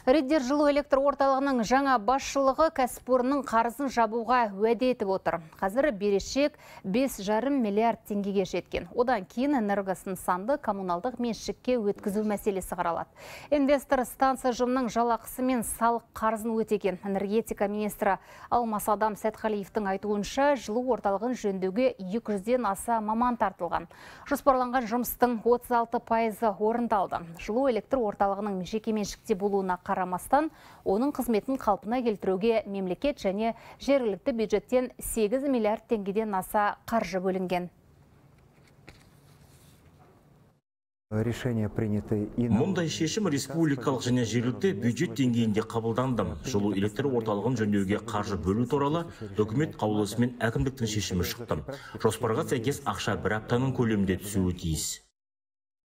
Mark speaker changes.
Speaker 1: Реддер жылу электр орталығының жаңа басшылығы кәсіпорынның қарызын жабуға уәде етіп отыр. Қазір берешек 5,5 миллиард теңгеге жеткен. Одан кейін энергосын санды коммуналдық меншікке өткізу мәселесі қаралады. Инвестор станция ұжымының жалақысы мен салық қарызын өтеген. Энергетика министрі Алмас Адам Сәтқалиевтің айтуынша жылу орталығын жөндеуге 200-ден аса маман тартылған. Жоспарланған жұмыстың 36% орындалды. Жылу электр орталығының жекеменшікте болуына қарамастан, оның қызметін қалпына келтіруге мемлекет және жергілікті бюджеттен 8 миллиард теңгеден аса қаржы бөлінген.
Speaker 2: Мұндай шешім республикалық және жергілікті бюджет деңгейінде қабылданды. Жылу электр орталығын жөндеуге қаржы бөлу туралы үкімет қаулысымен әкімдіктің шешімі шықты. Жоспарға сәйкес ақша бір аптаның көлемінде түсуі тиіс.